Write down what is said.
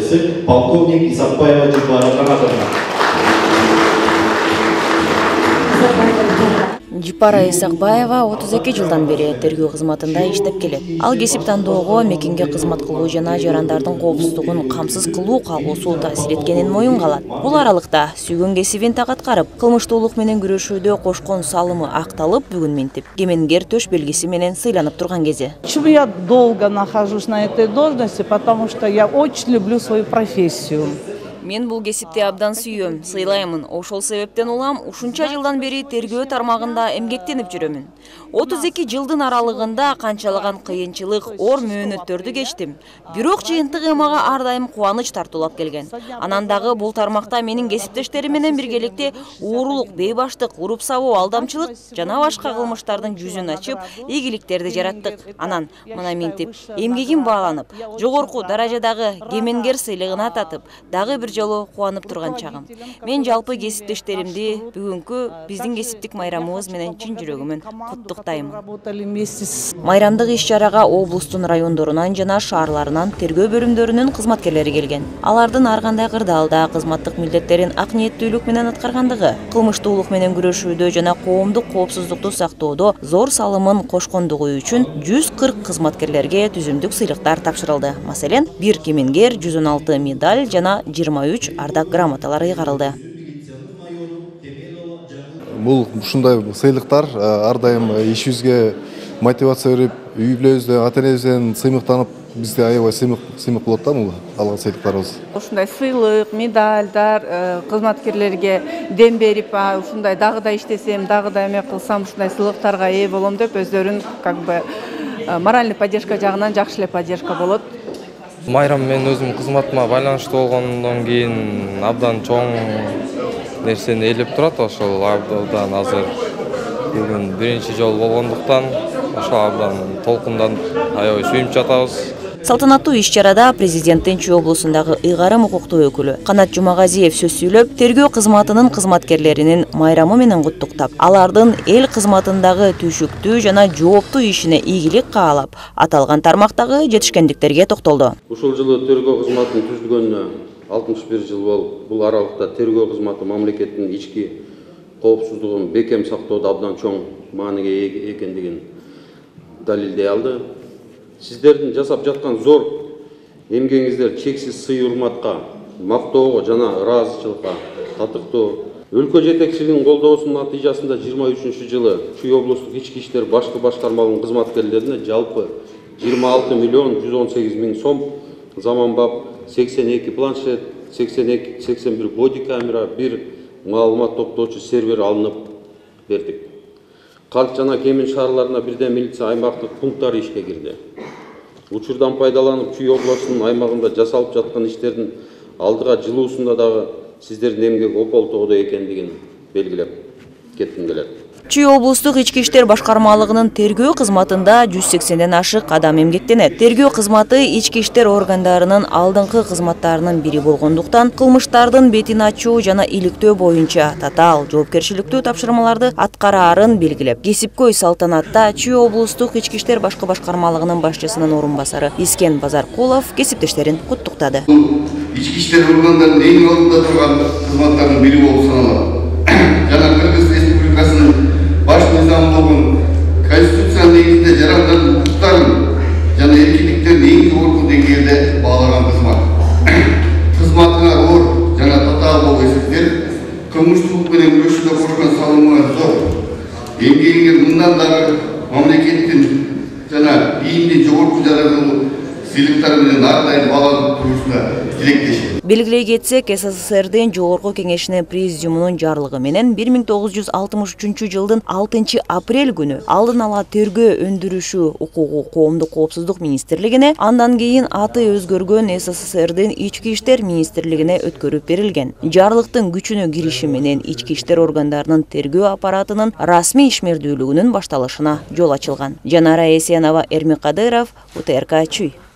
командирчиси полковник Исакбаева Жыпара Жанатовна. Жыпара Исакбаева 32 жылдан бери тергөө кызматында иштеп келет. Ал кесип тандоого мекенге кызмат кылуу жана жарандардын коопсуздугун камсыз кылуу калгусу таасир эткенин моюнга алат. Бул аралыкта сүйгөн кесибин так аткарып, кылмыштуулук менен күрөшүүдө кошкон салымы акталып, бүгүн минтип, кемеңгер төш белгиси менен сыйланып турган кези. Почему я долго нахожусь на этой должности? Потому что я очень люблю свою профессию. Мен бул кесипти абдан сүйөм, сыйлаймын. Ошол себептен улам ушунча жылдан бери тергөө тармагында эмгектенип жүрөмүн. 32 жылдын аралыгында канчалаган кыйынчылык, оор мөөнөттөрдү кечтим. Бирок жыйынтыгы мага ар дайым кубаныч тартуулап келген. Анан дагы бул тармакта менин кесиптештерим менен биргеликте уурулук, бейбаштык, уруп сабоо, алдамчылык жана башка кылмыштардын жүзүн ачып, ийгиликтерди жараттык. Анан мына минтип, эмгегим бааланып, жогорку даражадагы кемеңгер сыйлыгына татып, дагы бир жолу кубанып турган чагым. Мен жалпы кесиптештеримди бүгүнкү биздин кесиптик майрамыбыз менен чын жүрөгүмөн куттуктайм. Майрамдык иш-чарага облустун райондорунан жана шаарларынан тергөө бөлүмдөрүнүн кызматкерлери келген. Алардын ар кандай кырдаалда кызматтык милдеттерин ак ниеттүүлүк менен аткаргандыгы, кылмыштуулук менен күрөшүүдө жана коомдук коопсуздукту сактоодо зор салымын кошкондугу үчүн 140 кызматкерлерге түзүмдүк сыйлыктар тапшырылды. Маселен, 1 кемеңгер, 116 медаль жана 23 ардак грамоталар ыйгарылды. Бул ушундай сыйлыктар ар дайым ишибизге мотивация берип, үй бүлөбүздөн, ата-энебизден сыймыктанып, бизде аябай сыймык болот да бул алган сыйлыктарыбыз. Ушундай сыйлык, медальдар кызматкерлерге дем берип, ушундай дагы да иштесем, дагы да эме кылсам, ушундай сыйлыктарга ээ болом деп өздөрүн моральный поддержка жагынан жакшы эле поддержка болот. Майрам мен өзүм кызматыма байланыштуу болгондон кийин абдан чоң нерсени ээлеп турат. Ошол абдан азыр бүгүн биринчи жолу болгондуктан ошол абдан толкундан аябай сүйүнүп жатабыз. Салтанаттуу иш-чарада президенттин Чүй облусундагы ыйгарым укуктуу өкүлү Канат Жумагазиев сөз сүйлөп, тергөө кызматынын кызматкерлеринин майрамы менен куттуктап, алардын эл кызматындагы түйшүктүү жана жооптуу ишине ийгилик каалап, аталган тармактагы жетишкендиктерге токтолду. Ушул жылы тергөө кызматынын түзүлгөнүнө 61 жыл болуп, бул аралыкта тергөө кызматы мамлекеттин ички коопсуздугун бекем сактоодо абдан чоң мааниге ээ экендигин далилдей алды. Сиздердин жасап жаткан зор эмгегиңиздер чексиз сый-урматка, мактоого жана ыраазычылыкка татыктуу. Өлкө жетекчилигинин колдоосунун натыйжасында 23 жылы Чүй облустук ички иштер башкы башкармалыгынын кызматкерлерине жалпы 26 миллион 118 миң сом, заманбап 82 планшет, 81 боди камера, 1 маалымат топтоочу сервер алынып бердик. Калк жана Кемин шаарларына бирден милиция аймактык пункттары ишке кирди. Учурдан пайдаланып, Чүй облусунун аймагында жасалып жаткан иштердин алдыга жылуусунда дагы сиздердин эмгек ополтоодо экендигин белгилеп кетким келет. Чүй облустук ички иштер башкармалыгынын тергөө кызматында 180ден ашык адам эмгектенет. Тергөө кызматы ички иштер органдарынын алдыңкы кызматтарынын бири болгондуктан, кылмыштардын бетин ачуу жана иликтөө боюнча татаал жоопкерчиликтүү тапшырмаларды аткараарын белгилеп, кесипкөй салтанатта Чүй облустук ички иштер башкы башкармалыгынын башчысынын орун басары Искен Базаркулов кесиптештерин куттуктады. Ички иштер органдарынын эң алдында турган кызматтардын бири болуп саналат. Жана Кыргыз Республикасынын баш низамдуулугун конституциянын негизинде жарандардын укуктарын жана эркиндиктерин эң жогорку деңгээлде баалаган кызмат. Кызматыңа оор жана татаал болуп эсептелип, кылмыштуулук менен күрөшүүдө кошкон салымыңар зор. Эмгегиңер мындан дагы мамлекеттин жана ийиндин жогорку жараткылуу сыйлыктар менен ар дайым бааланып турушуна тилектешем. Белгилей кетсек, СССРдин Жогорку Кеңешинин президиумунун жарлыгы менен 1963 жылдын 6 апрель күнү алдын ала тергөө өндүрүшү укугу коомдук коопсуздук министрлигине, андан кийин аты өзгөргөн СССРдин Ички иштер министрлигине өткөрүп берилген. Жарлыктын күчүнө кириши менен ички иштер органдарынын тергөө аппаратынын расмий ишмердүүлүгүнүн башталышына жол ачылган. Жанара Есенова, Эрмек Кадыров, УТРК Чүй.